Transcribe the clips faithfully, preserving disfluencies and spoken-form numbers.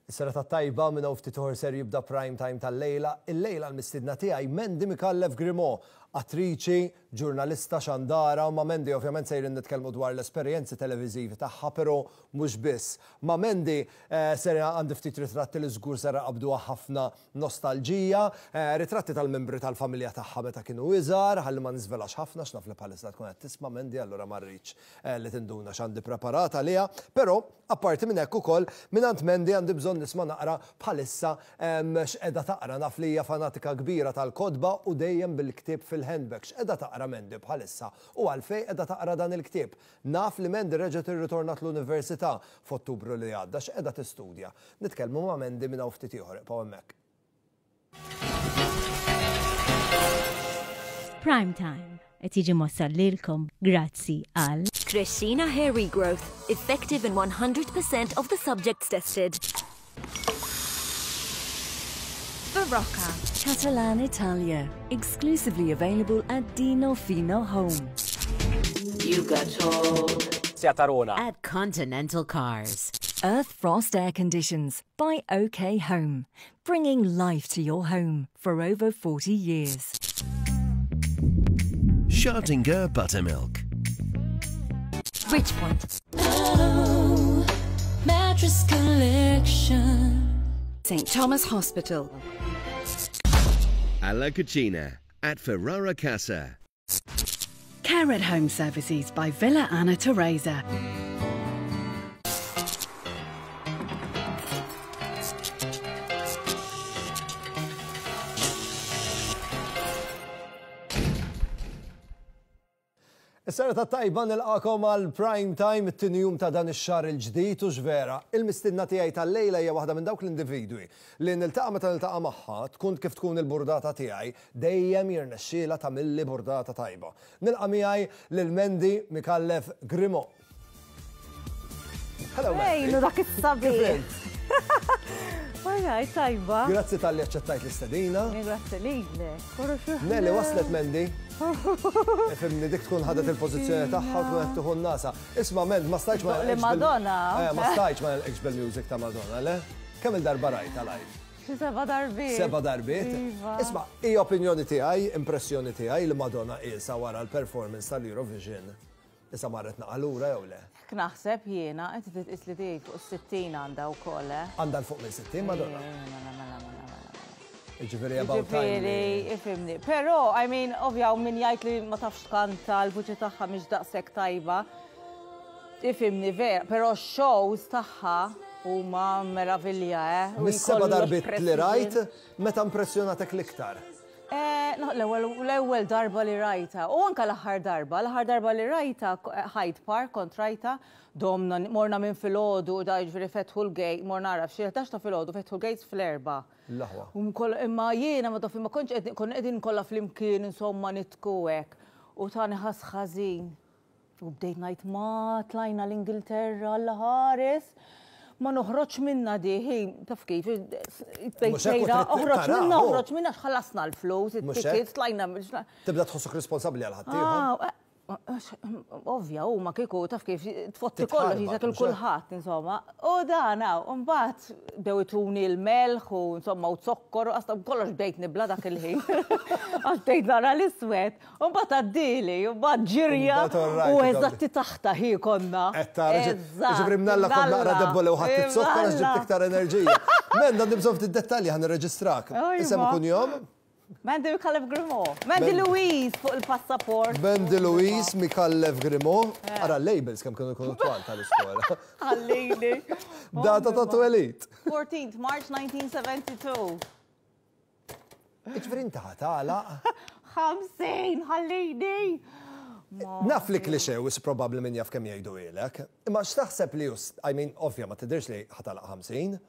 Is-serata tajba minn hawn ftit ieħor ser jibda prime time tal-lejla. Il-lejla l-mistidna tiegħi Mandy Micallef Grimaud, attriċi, ġurnalista xandara, ma' Mandy ovvjament sejrin nitkellmu dwar l-esperjenzi televiżivi tagħha, però mhux biss. Ma' Mandy eh, ser għandi ftit ritratti li żgur ser qabduha ħafna nostalġija, eh, ritratti tal-membri tal-familja tagħha meta kienu iżgħar, ħalli ma niżvelax ħafna x'naf li bħalissa tkun qed tisma' Mandy allura ma rridx eh, li tinduna x'għandi preparata għaliha, però apparti minn hekk ukoll mingħand Mandy għandi bżonn nisma' naqra bħalissa x'qiegħda taqra naf li hija fanatika kbira tal-kotba u dejjem bil-ktieb fil-handbag. X'qiegħda taqra Mandy bħalissa u għalfejn qiegħda taqra dan il-ktieb. Naf li Mandy reġgħet irritornat l-università f'Ottubru li għadda x'qiegħda tistudja. Nitkellmu ma' Mandy minn hawn ftit ieħor, ibqgħu hemmhekk. Prime Time qed jiġi mwassal lilkom grazzi għal Crescina Hair Regrowth, effective in one hundred percent of the subjects tested. Barocca. Catalan Italia, exclusively available at Dino Fino Home. You got told. Seat Arona. At Continental Cars. Earth Frost Air Conditions by O K Home, bringing life to your home for over forty years. Schartinger Buttermilk. Bridgepoint. Oh, mattress collection. Saint Thomas Hospital. Alla Cucina at Ferrara Casa. Care at Home Services by Villa Anna Teresa. Is-serata tajba nilqakom għal prime time it-tieni jum ta' dan ix-xahar il-ġdid u x'vera. Il-mistidna tiegħi tal-lejla hija waħda minn dawk l-individwi li niltaqa' meta niltaqa' magħha tkun kif tkun il-burdata tiegħi dejjem jirnexxielha tagħmilli burdata tajba. Nilqa' miegħi lil Mandy Micallef Grimaud. Hello, Mandy. Ejlu dak is-sabiħ. Alright, tajba. Grazzi tal-li aċċettajt l-istedina. Grazzi lilek. Nelly waslet Mandy. Ifhimni dik tkun ħadet il-pożizzjoni tagħha u tkun qed tieħu n-nasa. Isma' Mend, ma stajtx ma Li Madonna. Eh, ma stajtx ma nilqekx bil-music ta' Madonna, le? Kemm il-darba rajta live? Xi seba' darbiet. Seba' darbiet. Iva. Isma' hija opinjoni tiegħi, impressjoni tiegħi li Madonna qiesha wara l-performance tal-Eurovision. Issa marret naqalura jew le? Hekk naħseb jiena, inti titqis li tiegħi fuq is-sittin għandha wkoll, eh? Għandha l fuq minn sittin Madonna? Mela, mela, mela, mela, mela. Jiġifieri about time. Jiġifieri, ifhimni. Però, I mean, ovvja, min jgħid li ma tafx tkanta, l-vuċi tagħha mhix daqshekk tajba. Ifhimni, vera, però x-shows tagħha huma meravilja, eh? U Mis-seba' jkollok darbiet li rajt, precision. meta impressjonatek l-iktar? Eh, no, l-ewwel, l-ewwel darba li rajta, u anka l-aħħar darba, l-aħħar darba li rajta, eh, Hyde Park kont rajta, domna, morna minn filgħodu, da jiġifieri fetħu l-gate, morna nara f'xi ħdax ta' filgħodu, fetħu l-gates fl-erba'. L-aħwa. U mkoll, imma jiena ma taf, ma kontx qegħdin, konna qegħdin kollha flimkien, insomma, nitku hekk. U tani ħass ħażin. U bdejt ngħid ma tlajna l-Ingilterra Alla ħares. Ma noħroġ minna di, hi, taf kif, bdejt Mhux hekk u sejra, trid oħroġ taraha, minna, hu. oħroġ minna, x'ħallasna l-flus, Mhux it-tickets, hekk? tlajna mill-ġna- Tibda tħossok responsabbli għal ħaddieħor. Ah, eh, ovvja, u ma kieku, taf kif, tfotti Titħarbat, kollox, jizak mhux hekk? il-kulħadd, insomma. U dan, u mbagħad bdew ituni l-melħ u insomma u zokkor, u għasta kollox bdejt nibla dak il-ħin. Għax bdejt nara l-iswed. U mbagħad għaddili, u mbagħad ġirja, Mbagħad all right, u ikompli. eżatti taħta hi konna. Qed tara, ġi- Eżatt, ġifieri mnalla kont naqra mnalla. debole u ħadd it-zokkor għax ġibt Mnalla. iktar enerġija. Menda għandi bżonn ftit dettalji ħa nirreġistrak. Ejwa. Isem u kunjom? Mandy Micallef Grimaud. Mandy Mandy. Louise fuq il-passaport. Mandy Louise Micallef Grimaud. Ara l-labels kemm kienu jkunu twal tal-iskola. Ħallini. Data ta' twelid. fourteenth March nineteen seventy-two. Jiġifieri inti ħatala. Ħamsin, ħallini. Naf li cliché u probabbli min jaf kemm jgħidu ilek. Imma x'taħseb li jus, I mean, ovvja ma tidirx li ħatala ħamsin,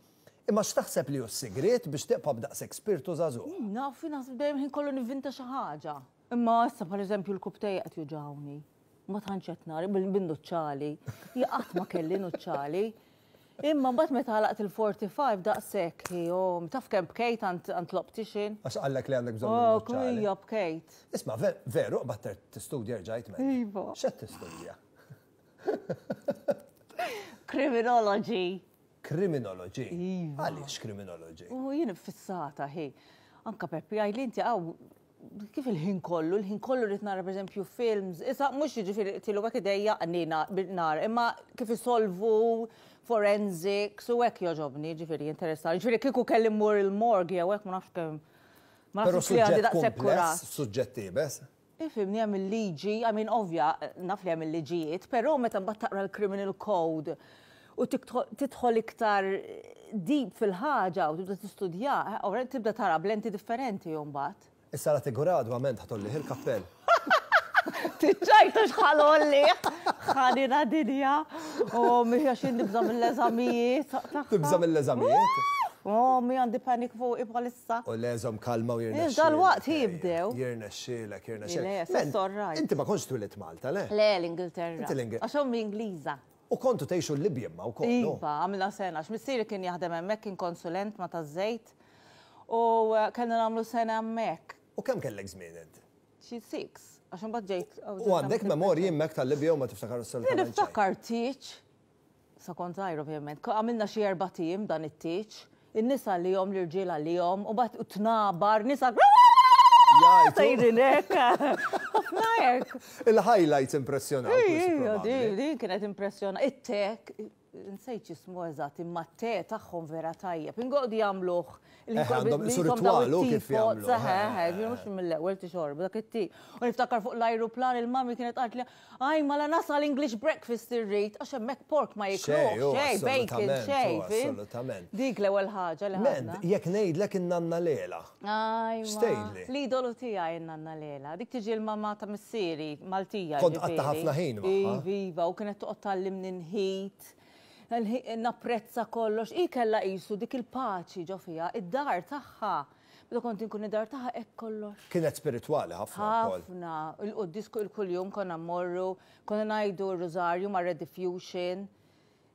imma x'taħseb li hu s-sigriet biex tibqa' b'daqshekk spirtu żagħżugħ? Naf, naħseb dejjem ħin kollu nivvinta xi ħaġa. Imma issa pereżempju l-kubtejja qed juġawni. Ma tantx qed nara bil-nuċċali. Jien qatt ma kelli nuċċali. Imma mbagħad meta għalaqt il-forty-five daqshekk, jo, taf kemm bkejt għand l-optician. Għax qallek li għandek bżonn Oh, nuċċali. Kwija bkejt. Isma' ve-, veru qbad tistudja rġajt men. Iva. X'qed tistudja? Criminology. Criminology. Iva. Għaliex criminology? U jien fissata, hi. Anka Peppi, għajli inti għaw, kif il-ħin kollu, il-ħin kollu rrid nara per eżempju films, issa mhux jiġifieri tilu hekk idejjaqni nar, imma kif isolvu forensics u hekk jogħġobni, ġifieri interessani. Ġifieri kieku kelli mmur il-morgue jew hekk ma nafx kemm. Ma Però nafx li għandi suġġett daqshekk kumpless, kuraġġ. suġġett iebes. Ifhimni, hemm il-liġi, I mean, ovvja, naf li hemm il-liġijiet, però meta mbagħad taqra l-criminal code u tidħol iktar deep fil-ħaġa u tibda tistudja, ovvjament tibda tara b'lenti differenti mbagħad. Issa la tigradwa ment ħa tgħollih il-kappell. Tiċċajta x'ħa ngħolli, ħanina dinja, u miħja xin nibża mill-eżamijiet. Tibża mill-eżamijiet? Oh, mi għandi panic fuq bħalissa. U leżom kalma u jirnexxielek. Dal-waqt jibdew. Jirnexxielek, Le, jirnexxielek. that's all right. Inti ma kontx twilidt Malta, le? Le, l-Ingilterra. Inti l-Ingil- Għax ommi Ingliża. U kontu tgħixu l-Libja ma u kollu. Iva, għamilna sena, għax missieri kien jaħdem hemmhekk, kien konsulent ma ta' żejt. U eh, kellna nagħmlu sena hemmhekk. U kemm kellek żmien inti? Xi six, għax imbagħad ġejt. U għandek memorji hemmhekk tal-Libja u ma tiftakar assolutament xejn? Niftakar tieġ, sa kont żgħir ovvjament, għamilna xi erbat ijiem dan it-tieġ, in-nisa li jom, l-irġiel li jom, u bat tnabar, nisa Jgħajtu. sejrin hekk. Ħafna hekk. Il-highlights impressjonaw. Ija, di, din kienet impressjona. It-te, nsejt x'ismu eżatt, imma t-te tagħhom vera tajjeb. Ingħodu jagħmluh. Eh, għandhom isu ritwal, u kif jagħmluh, eh. Mhux mill-ewwel tixorbu dak it-te. U niftakar fuq l-ajruplan il-mami kienet qalt li aj mala nasal English breakfast irrid, għax hemmhekk pork ma jiklux, Xej, xej, bacon, assolutament, xej, u fim? assolutament. Dik l-ewwel ħaġa li Mend, ħadna. jekk ngħidlek in-nanna Lela. Ajwa. X'tgħidli? L-idolu tiegħi n-nanna Lela. Dik tiġi l-mama ta' missieri, Maltija. Kont ġifieri. qatta ħafna ħin magħha. Iva, iva, u kienet toqgħod tgħallimni nħit, napprezza kollox. I kellha qisu dik il-paċi ġo fiha, id-dar tagħha. Meta kont inkun id-dar tagħha hekk kollox. Kienet spiritwali ħafna wkoll. Ħafna. Il-quddies kull jum konna mmorru, konna ngħidu r-rożarju ma' Rediffusion.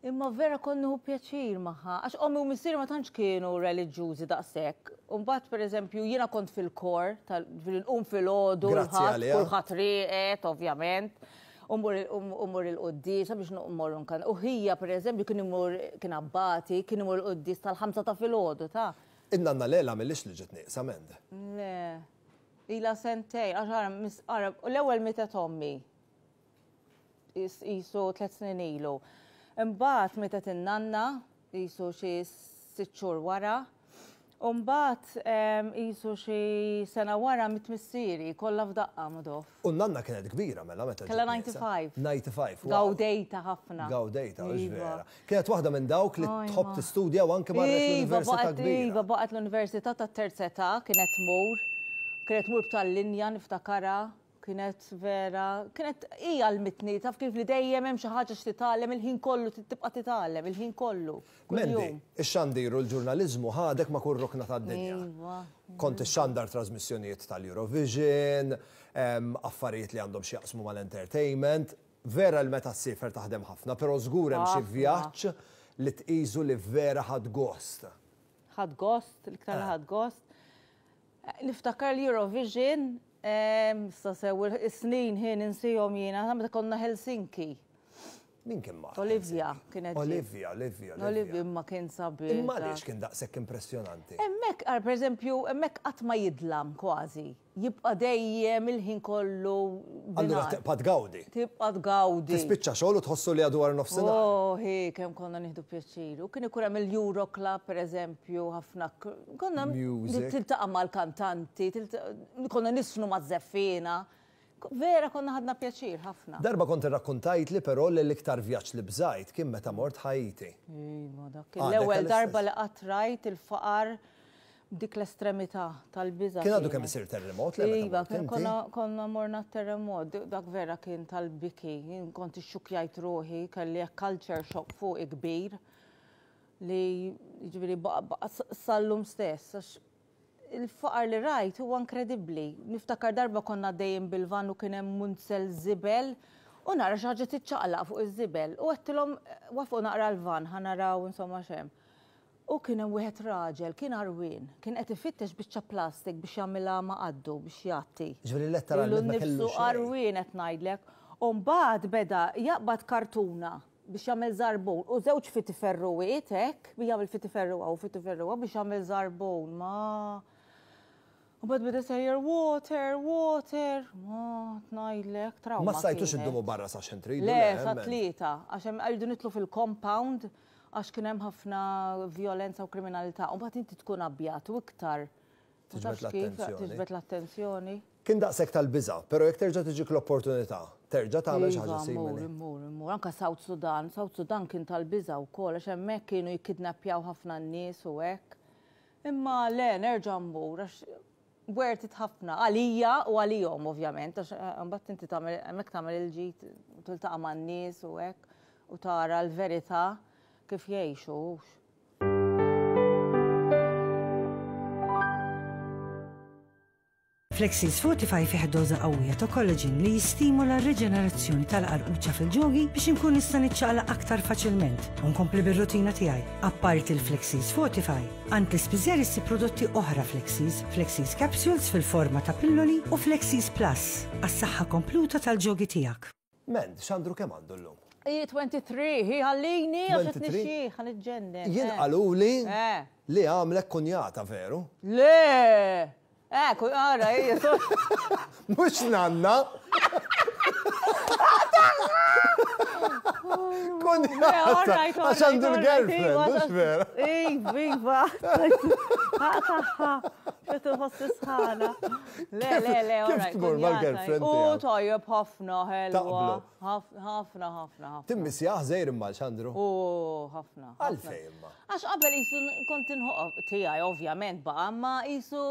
Imma vera kont nieħu pjaċir magħha. Għax ommi u missieri ma tantx kienu reliġjużi daqshekk. U mbagħad pereżempju jiena kont fil-kor, tal-qum fil-għodu, Grazzi għaliha. kulħadd rieqed, ovvjament. U mmur il-quddies, biex mmorru nkan. U ħija, per eżempju, kien imur, kien abbati, kien imur il-quddies tal-ħamsa ta' filgħodu, ta' In-nanna Lela millix li ġiet nieqsa Mend. Le, ila sentejn, għax ara, mis- ara, u l-ewwel mietet ommi, is- qisu tliet snin ilu. Imbagħad mietet in-nanna, qisu xi sitt xhur wara. U mbagħad em, qisu xi sena wara miet missieri, kollha f'daqqa madof. U n-nanna kienet kbira mela meta ġiet Kellha nieqsa. disgħa u disgħin. disgħa u disgħin. wow. Gawdejta ħafna. Gawdejta, hux Iva. vera. Kienet waħda minn dawk li Ajma. tħobb tistudja u anke marret Iva, l-università baqgħet kbira. Iva, baqgħet l-università ta' terza età, kienet tmur, kienet tmur b'tal-linja niftakara, kienet vera, kienet hija l-mitni, taf kif li dejjem hemm xi ħaġa x'titgħallem il-ħin kollu tibqa' titgħallem il-ħin kollu. Mendi, kuljum. ix-xandir u l-ġurnaliżmu ħadek ma' kull rokna tad-dinja. Iva. Kont ixxandar trasmissjonijiet tal-Eurovision, em, affarijiet li għandhom x'jaqsmu mal-entertainment. Vera l meta ssiefer taħdem ħafna, però żgur hemm xi Ħafna. vjaġġ li tqisu li vera ħadt gost. Ħadt gost, l-iktar Eh. ħadt gost. Niftakar l-Eurovision, em, sa sew is-snin ħin insihom jiena, meta konna Helsinki. Min kien ma' Olivia kienet ġiet. Olivia, Olivia, Olivia Olivia. imma kien sabiħ. Imma għaliex kien daqshekk impressjonanti? Hemmhekk, għar per eżempju, hemmhekk qatt ma jidlam kważi. Jibqa' dejjem il-ħin kollu Allura binhar. tibqa' tgawdi. Tibqa' tgawdi. Tispiċċa xogħol u tħossu li għadu wara nofsinhar. Oh, hi, kemm konna nieħdu pjaċir. U kien ikun hemm il-Euro Club, per eżempju, ħafna. Konna Music. tiltaqa' mal-kantanti, tilta- konna niżfnu maż-żeffiena. Vera konna ħadna pjaċir ħafna. Darba kont irrakkontajt li però li l-iktar vjaġġ li bżajt kien meta mort Haiti. Iva, dak Għadek l-ewwel għall-istess. darba li qatt rajt il-faqar dik l-estremità tal-biża'. Kien għadu kienet. kemm isir terremot le meta Iva, mort kien inti? konna, konna morna terremot, dik- dak vera kien tal-biki, jien kont ixxukjajt ruħi, kelli culture shock fuq kbir li ġifieri baqa baqa sal-lum stess, għax il-faqar li rajt huwa inkredibbli. Niftakar darba konna dejjem bil-van u kien hemm munzell żibel u nara xi ħaġa tiċċaqlaq fuq iż-żibel. U għedtilhom waqqfu naqra l-van ħa naraw insomma x'hemm. U kien hemm wieħed raġel, kien għarwien, kien qed ifittex biċċa plastik biex jagħmilha ma' qaddu biex jgħatti. Ġifieri letteralment Lilu ma kellu nnifsu xejn. għarwien qed ngħidlek. U mbagħad beda jaqbad kartuna biex jagħmel żarbun. U żewġ fitiferruwiet hekk, biex jagħmel fitiferruwa u fitiferruwa biex jagħmel żarbun. Ma. U bad bida sejjer water, water. Ma tnajlek, trauma. Ma stajtux kienet. iddumu barra sa xejn tridu? Le, sa hemmhekk. tlieta, għax hemm rridu nidħlu fil-compound għax kien hemm ħafna violenza u kriminalità. U mbagħad inti tkun abjat u iktar. Ma Tiġbed tafx kif, l-attenzjoni. Tiġbed l-attenzjoni. Kien daqshekk tal-biża', però jekk terġa' tiġik l-opportunità, terġa' tagħmel xi ħaġa Iva, simili. Mmur, immur, immur. Anka South Sudan, South Sudan kien tal-biża' wkoll, għax hemmhekk kienu jikkidnappjaw ħafna n-nies u hekk. Imma le, nerġa' mmur, għax worth it ħafna, għalija u għalihom ovvjament, għax eh, mbagħad inti tagħmel hemmhekk tagħmel il-ġid, tiltaqa' man-nies u hekk u tara l-verità kif jgħixu. hux. Flexis Fortify fih doża qawwija ta' collagen li jistimula r-reġenerazzjoni tal-qarquċa fil-ġogi biex inkun nista' niċċaqlaq aktar faċilment u nkompli bir-rutina tiegħi. Apparti il-Flexis Fortify, għand l-ispiżjar issib prodotti oħra Flexis, Flexis Capsules fil-forma ta' pilloli u Flexis Plus għas-saħħa kompluta tal-ġogi tiegħek. Mend, Xandru kemm għandu llum? I tlieta u għoxrin, hi ħallini għax qed tlieta u għoxrin? nixxieħ, ħa niġġennen. Jien eh. qaluli Eh. li għamlek kunjata, veru? Le! Eh, kun ara, hija. Mhux nanna! Kunjata! Għax għandu l-girlfriend, mhux vera? Iva, iva. Taħħa, xed inħoss sħana. Le, le, le, Kif all right, tmur kunjata. mal-girlfriend U tiegħek? tajjeb ħafna, ħelwa. Taqblu. Ħafna, ħafna, ħafna. Timmissjah żejr imma Xandru. U ħafna. ħafna. Għalfejn imma? Għax qabel qisu kont inħoq tiegħi ovvjament baqa' ma qisu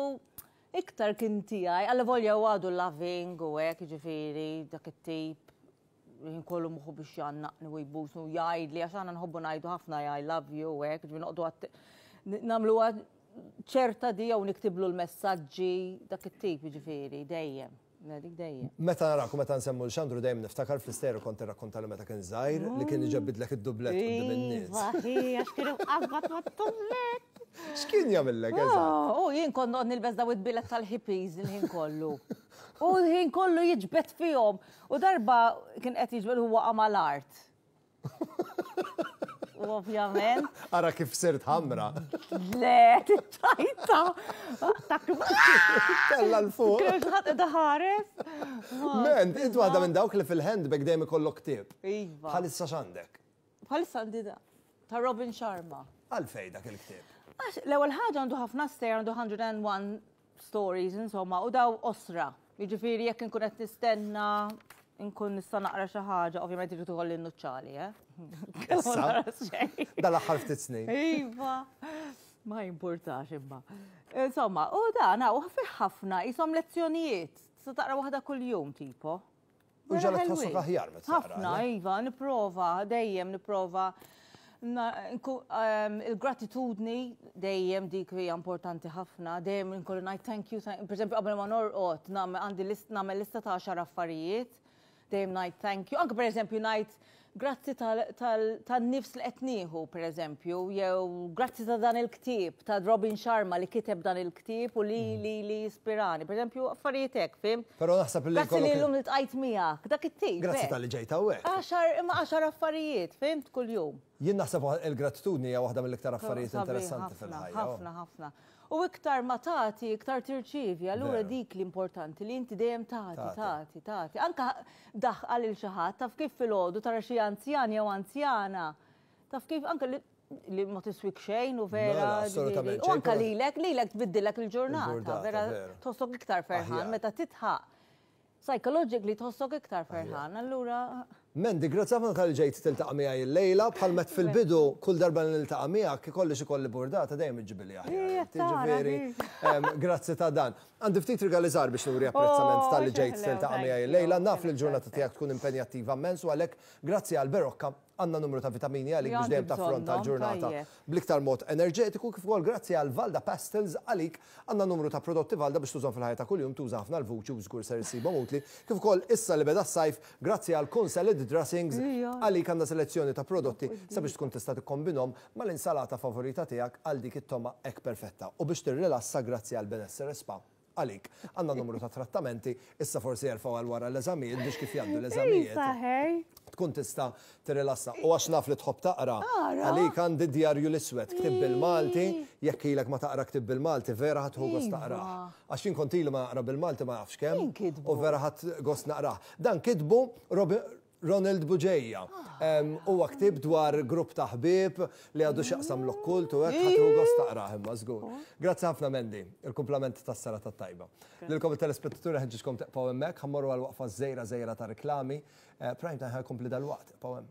iktar kien tiegħi, għalla volja u għadu loving u hekk, ġifieri dak it-tip jien kollu moħħu biex jgħannaqni u jbusni u jgħidli għax aħna nħobbu ngħidu ħafna I love you u hekk, ġifieri noqogħdu għat nagħmlu ċerta di jew niktiblu l-messaġġi dak it-tip ġifieri dejjem. Le, dik dejjem. Meta naraku, meta nsemmu l-Xandru dejjem niftakar fl-isteru kont irrakkontali meta kien żgħir li kien iġebbidlek id-dublett quddiem in-nies. Iva, hi, għax kienu qabad mat-dublett. X'kien jagħmillek eżatt? Oh, U jien kont noqgħod nilbes daw id-bilet tal-hippies il-ħin kollu. U l-ħin kollu jiġbed fihom. U darba kien qed jiġbed huwa waqa' mal-art. U ovvjament, Ara kif sirt ħamra. le, tiċċajta. Tella 'l fuq. Kien xi ħadd qiegħda ħares. Mend, int waħda minn dawk li fil-handbag dejjem ikollok ktieb. Iva. Bħalissa x'għandek? Bħalissa għandi da. Ta' Robin Sharma. Għalfej dak il-ktieb. Għax, l-ewwel ħaġa għandu ħafna stejjer, għandu mija u wieħed stories, insomma, u daw qosra. Jiġifieri jekk inkun qed nistenna, nkun nista' naqra xi ħaġa, ovvjament irid ikolli n-nuċċali, eh? Issa? Ma nara xejn. Dal-aħħar ftit snin. Iva, ma jimpurtax imma. Insomma, u dan u fih ħafna jisom lezzjonijiet. Tista' taqra waħda kuljum tipo. U Vera ġalek ħelwin. tħossok aħjar meta taqra, Ħafna, le? iva, nipprova, dejjem nipprova. Na- nku- ehm, Il-gratitudni dejjem dik hija importanti ħafna, dejjem nkollu ngħid thank you, thank- per eżempju qabel ma norqod nagħmel għandi list nagħmel lista ta' għaxar affarijiet, dejjem ngħid thank you. Anke per eżempju ngħid grazzi tan-nifs li qed nieħu, per eżempju, jew grazzi ta' dan il-ktieb, ta' Robin Sharma li kiteb dan il-ktieb u li li li ispirani. Per eżempju, affarijiet hekk, fhimt? Però naħseb li Grazzi li jkollok- llum iltqajt miegħek, dak it-tip. Grazzi hekk. talli ġejt hawnhekk. Għaxar, imma għaxar affarijiet, fhimt kuljum. Jien naħseb il-gratitudni hija waħda mill-iktar affarijiet Sabiħ interessanti ħafna, fil-ħajja. Ħafna, ħafna. U iktar ma tagħti, iktar tirċievi, allura Veru. dik l-importanti li inti dejjem tagħti, Tagħti. tagħti, tagħti. Anka daħqa lil xi ħadd, taf kif filgħodu tara xi anzjan jew anzjana. Taf kif anka li, li ma tiswik xejn u vera. Mela, assolutament ġifieri. U anka xejn, però- lilek, lilek tbiddilek il-ġurnata, Il-ġurnata, vera veru. tħossok iktar ferħan Aħjar. meta titħaq. Psychologically tħossok iktar ferħan, allura Mendi, grazzi ħafna talli ġejt tiltaqa' miegħi illejla, bħal met fil-bidu kull darba li niltaqa' miegħek ikolli xi kolli burdata dejjem iġġibili aħjar. Ija, tara, Ġifieri, em, grazzi ta' dan. Għandi ftit rigali żgħar biex nuri apprezzament Oh, talli ġejt xeħlew, tiltaqa' thank miegħi you. illejla. Naf li l-ġurnata tiegħek tkun impenjattiva immens u għalhekk grazzi għal Berocca għandna numru ta' vitamini għalik biex Għandi dejjem taffronta bżonnhom, l-ġurnata tajjeb. bl-iktar mod enerġetiku kif ukoll grazzi għal Valda Pastels għalik għandna numru ta' prodotti Valda biex tużhom fil-ħajja ta' kuljum tuża ħafna l-vuċi u żgur ser issibhom utli kif ukoll issa li beda s-sajf grazzi għal Kun Salad Dressings Ija. għalik għandna selezzjoni ta' prodotti sabiex tkun tista' tikkombinhom mal-insalata favorita tiegħek għal dik it-toma hekk perfetta u biex tirrilassa grazzi għal Benessere Spa Għalik, għandna numru ta' trattamenti, issa forsi jerfgħu għal wara l-eżamijiet biex kif jgħaddu l-eżamijiet. Tkun tista' tirrilassa. U għax naf li tħobb taqra, għalik għandi Djarju l-Iswed, ktieb bil-Malti, jekk ilek ma taqra ktieb bil-Malti, vera ħa tieħu gost taqrah. Għax jien kont ili ma naqra bil-Malti ma nafx kemm. U vera ħadt gost naqrah. Dan kitbu Ronald Bugeja. Huwa ktieb dwar grupp ta' ħbieb li għandu x'jaqsam l-okkult u hekk, ħa tieħu gost taqrah imma żgur. Grazzi ħafna, Mandy, il-kumplament tas-serata t-tajba. Lilkom it-telespettaturi nħeġġiġkom tibqgħu hemmhekk, ħa mmorru għal waqfa żgħira żgħira ta' reklami. Prime Time ħa jkompli dalwaqt, ibqgħu hemm.